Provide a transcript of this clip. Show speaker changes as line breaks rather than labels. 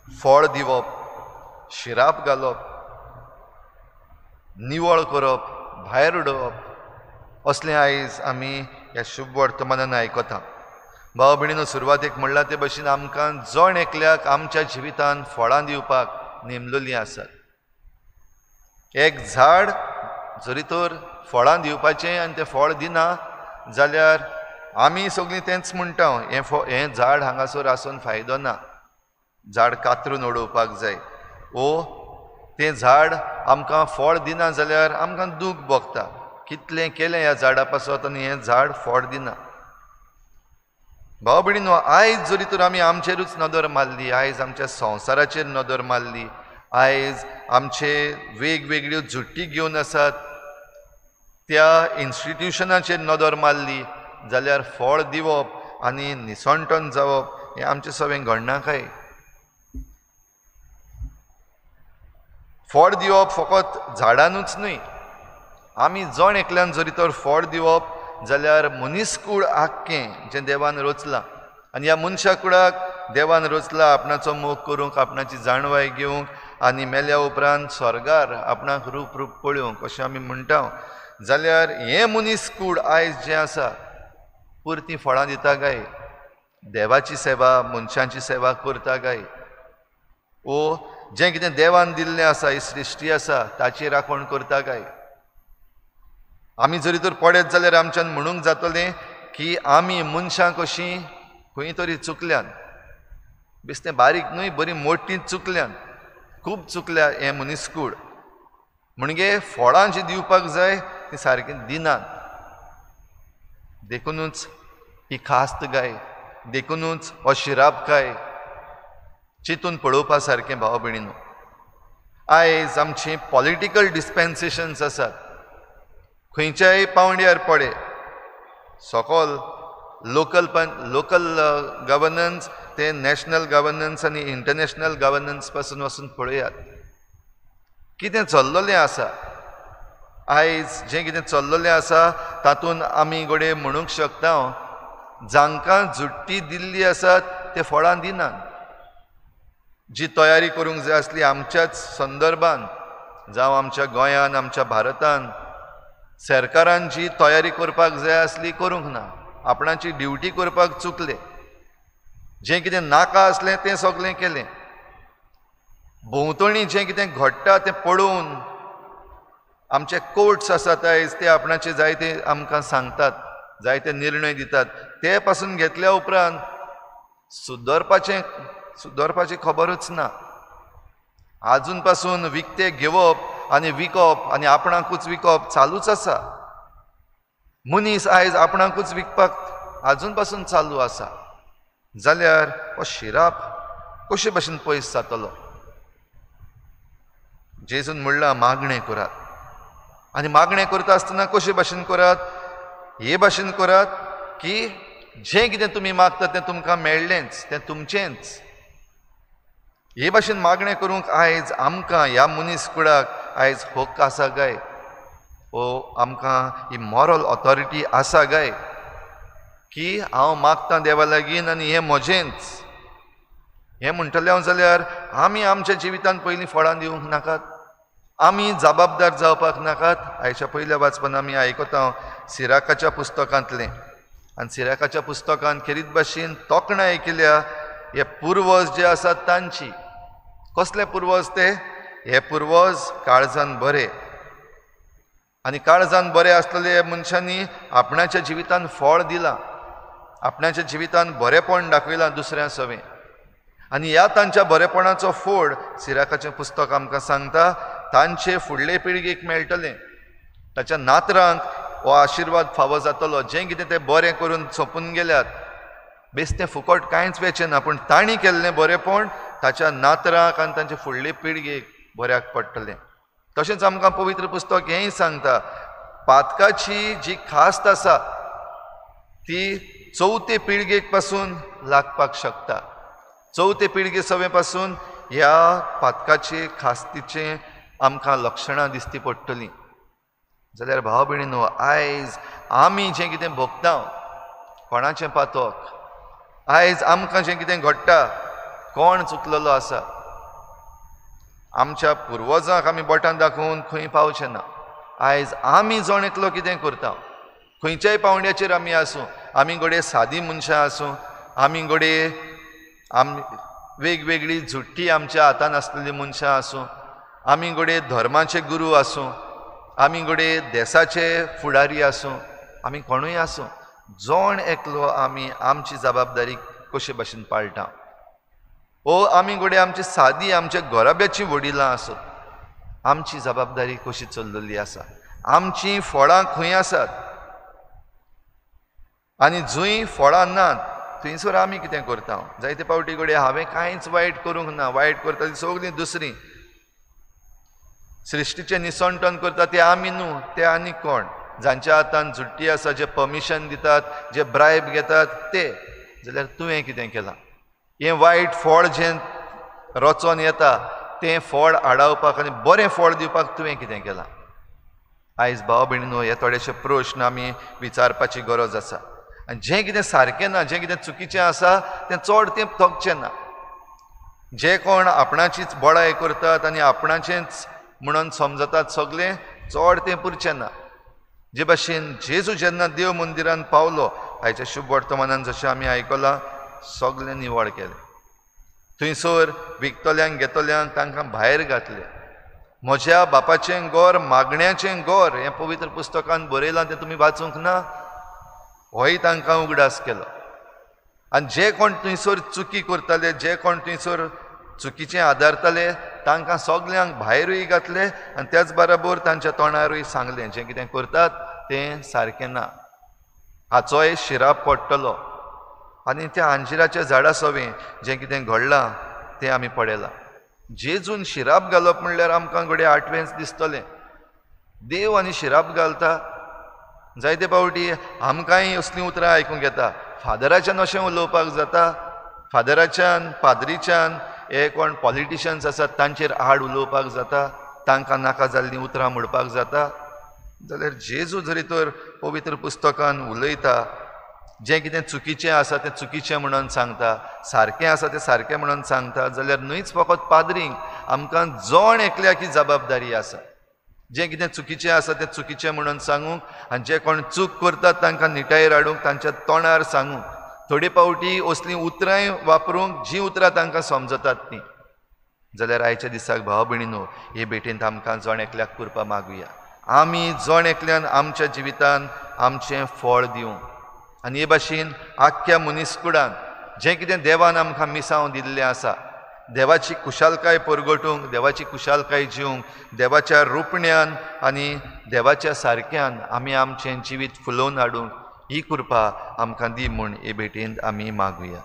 फळ दिवप, शिराप घालप, निवळ करप, भायर उडोवप असलें आयज आमी ह्या शुभ वर्तमानान आयकता. भाव भयणीनो, सुरवातेक म्हणलां ते भशेन आमकां जण एकल्याक आमच्या जिवितांत फळां दिवपाक नेमलेलीं आसात. एक झाड जरी तर फळां दिवपाचें आनी तें फळ दिना जाल्यार आमी सगळीं तेंच म्हणटा, हें झाड हांगासर आसून फायदो ना, झाड कातरून उडोवपाक जाय. ओ तें झाड आमकां फळ दिना जाल्यार आमकां दूख भोगता, कितलें केलें ह्या झाडा पासत आनी हें झाड फळ दिना. भाव भयणीनो, आयज जरी तर आमी आमचेरूच नदर मारली, आयज आमच्या संवसाराचेर नदर मारली, आयज आमचे वेगवेगळ्यो झुट्टी घेवन आसात त्या इन्स्टिट्युशनाचेर नदर मारली जाल्यार फळ दिवप आनी निसणटन जावप हें आमचें सगळें घडना काय? फळ दिवप फकत झाडानूच न्हय, आमी जण एकल्यान जरी तर फळ दिवप जाल्यार मनीसकूळ आख्खें जें देवान रचलां आनी ह्या मनशा कुळाक देवान रचला आपणाचो मोग करूंक, आपणाची जाणवाय घेवंक आनी मेल्या उपरांत स्वर्गार आपणाक रूप रूप पळोवंक अशें आमी म्हणटा. जाल्यार हें मनीस कूळ आयज जें आसा पुरतीं फळां दिता काय? देवाची सेवा, मनशांची सेवा करता काय? ओ जें कितें देवान दिल्लें आसा, ही सृश्टी आसा ताची राखण करता काय? आमी जरी तर पळयत जाल्यार आमच्यान म्हणूंक जातलें की आमी मनशां कशीं खंय तरी चुकल्यान, बेस्तें बारीक न्हय बरी मोटी चुकल्यान, खूब चुकल्या हें मनीसकूळ. म्हणजे फळां जीं दिवपाक जाय ती सारकीं दिनात. देखुनूच ही खास्त गाय, देखुनूच हो शिराप गाय चिंतून पळोवपा सारकें. भाव भयणीनो, आयज आमची पॉलिटिकल डिस्पेन्सेशन्स आसात, खंयच्याय पावंड्यार पळय, सकल लोकल लोकल गवर्नन्स ते नॅशनल गवर्नन्स आनी इंटरनॅशनल गवर्नन्स पासून वचून पळयात कितें चल्ललें आसा. आयज जें कितें चल्ललें आसा तातूंत आमी घडये म्हणूंक शकता जांकां झुट्टी दिल्ली आसात ते फळां दिनात. जी तयारी करूंक जाय आसली आमच्याच संदर्भान, जावं आमच्या गोंयान, आमच्या भारतान सरकारान जी तयारी करपाक जाय आसली करूंक ना, आपणाची ड्युटी करपाक चुकले, जें कितें नाका आसलें तें सगळें केलें. भोंवतणी जें कितें घडटा तें पळोवन आमचे कोर्ट्स आसात आयज ते आपणाचे जायते आमकां सांगतात, जायते निर्णय दितात, ते पासून घेतल्या उपरांत सुदरपाची खबरूच ना. आजून पासून विकते घेवप आनी विकप आनी आपणाकूच विकप चालूच आसा. मनीस आयज आपणाकूच विकपाक आजून पासून चालू आसा. जाल्यार हो शिराप कशे भशेन पयस जातलो? जेजून म्हणलां मागणें करात, आनी मागणें करता आसतना कशे भाशेन करात? हे भाशेन करात की जें कितें तुमी मागता तें तुमकां मेळ्ळेंच, तें तुमचेंच. हे भाशेन मागणें करूंक आयज आमकां ह्या मनीस कुळाक आयज हक्क आसा काय? ओ आमकां ही मॉरल ऑथॉरिटी आसा काय की हांव मागतां देवा लागीं आनी हें म्हजेंच? हें म्हणटलें हांव जाल्यार आमी आमच्या जिवितांत पयलीं फळां दिवंक नाकात, आमी जबाबदार जावपाक नाकात. आयच्या पयल्या वाचपान आमी आयकता सिराकाच्या पुस्तकांतलें, आनी सिराकाच्या पुस्तकांत खेरीत भाशेन तोखणाय केल्या हे पुर्वज जे आसात तांची. कसले पुर्वज ते? हे पुर्वज काळजान बरे, आनी काळजान बरे आसलेले मनशांनी आपणाच्या जिवितांत फळ दिलां, आपणाच्या जिवितांत बरेपण दाखयलां दुसऱ्या सवें. आनी ह्या तांच्या बरेपणाचो फोड सिराकाचें पुस्तक आमकां सांगता तांचे फुडले पिळगेक मेळटलें, ताच्या नातरांक हो आशिर्वाद फावो जातलो. जें कितें ते बरें करून सोंपून गेल्यात, बेस्तें फुकट कांयच वेचें ना, पूण तांणी केल्लें बरेपण ताच्या नातरांक आनी तांचे फुडले पिळगेक बऱ्याक पडटलें. तशेंच आमकां पवित्र पुस्तक हेंय सांगता, पातकाची जी खास्त आसा ती चवथे पिळगेक पासून लागपाक शकता. चवथे पिळगे सवे पासून ह्या पातकाचे खास्तीचें आमकां लक्षणां दिसती पडटलीं. जाल्यार भाव भयणीनो, आयज आमी जें कितें भोगता कोणाचें पातक, आयज आमकां जें कितें घडटा कोण चुकलेलो आसा? आमच्या पुर्वजांक आमी बोटान दाखोवन खंय पावचे ना. आयज आमी जण एकलो कितें करता, खंयच्याय पावंड्याचेर आमी आसूं, आमी घडये सादी मनशां आसूं, आमी घडये आमी वेगवेगळी झुट्टी आमच्या हातान आसलेली मनशां आसूं, आमी घडये धर्माचे गुरू आसूं, आमी घडये देसाचे फुडारी आसूं, आमी कोणूय आसूं, जण एकलो आमी आमची जबाबदारी कशे भाशेन पाळटा. ओ आमी घडये आमची सादी आमच्या घराब्याची वडिलां आसत, आमची जबाबदारी कशी चल्लेली आसा, आमची फळां खंय आसात आनी जंय फळां नात थंयसर आमी कितें करता. जायते फावटी घडये हांवें कांयच वायट करूंक ना, वायट करता ती सगळीं दुसरीं, सृश्टीचें निसणटण करता ते आमी न्हू, ते आनी कोण, जांच्या हातान झुट्टी आसा, जे परमिशन दितात, जे ब्रायब घेतात ते. जाल्यार तुवें कितें केलां? हें वायट फळ जें रचोन येता तें फळ आडावपाक आनी बरें फळ दिवपाक तुवें कितें केलां? आयज भाव भयणीनो हे थोडेशे प्रश्न आमी विचारपाची गरज आसा. आनी जें कितें सारकें ना, जें कितें चुकीचें आसा तें चड तें थकचें ना. जे कोण आपणाचीच बडाय करतात आनी आपणाचेंच म्हणून समजतात सगळें, चड तें पुरचें ना. जे भाशेन जेजू जेन्ना देव मंदिरान पावलो, आयच्या शुभ वर्तमानान जशें आमी आयकलां, सगळें निवळ केलें. थंयसर विकतल्यांक घेतल्यांक तांकां भायर घातले. म्हज्या बापाचें घर मागण्याचें घर हें पवित्र पुस्तकान बरयलां, तें तुमी वाचूंक ना? होय तांकां उगडास केलो. आनी जे कोण थंयसर चुकी करताले, जे कोण थंयसर चुकीचें आदारताले, तांकां सगल्यांक भायरूय घातले आनी त्याच बराबर तांच्या तोंडारूय सांगलें जें कितें करतात तें सारकें ना, हाचोय शिराप पडटलो. आनी त्या अंजिराच्या झाडा सवें जें कितें घडलां तें आमी पळयलां. जेजून शिराप घालप म्हणल्यार आमकां घडये आठवेंच दिसतलें, देव आनी शिराप घालता. जायते फावटी आमकांय असलीं उतरां आयकूंक येता, फादराच्यान अशें उलोवपाक जाता, फादराच्यान पाद्रीच्यान, हे कोण पॉलिटिशन्स आसात तांचेर आड उलोवपाक जाता, तांकां नाका जाल्लीं उतरां म्हणपाक जाता. जाल्यार जेजू जरी तर पवित्र पुस्तकान उलयता, जें कितें चुकीचें आसा तें चुकीचें म्हणून सांगता, सारकें आसा तें सारकें म्हणून सांगता, जाल्यार न्हूच फकत पाद्रींक, आमकां जण एकल्याक ही जबाबदारी आसा, जें कितें चुकीचें आसा तें चुकीचें म्हणून सांगूंक आनी जे कोण चूक करतात तांकां निटायेर हाडूंक, तांच्या तोंडार सांगूंक, थोडे फावटी असलीं उतरांय वापरूंक जीं उतरां तांकां समजतात तीं. जाल्यार आयच्या दिसाक भाव भयणीनो हे भेटेंत आमकां जण एकल्याक कृपा मागुया, आमी जण एकल्यान आमच्या जिवितान आमचें फळ दिवंक आनी हे भाशेन आख्ख्या मनीसकुडान जें कितें देवान आमकां मिसांव दिल्लें आसा, देवाची कुशालकाय परगटूंक, देवाची कुशालकाय जिवंक, देवाच्या रुपण्यान आनी देवाच्या सारक्यान आमी आमचें जिवीत फुलोवन हाडूंक ही कृपा आमकां दी म्हूण हे भेटेंत आमी मागुया.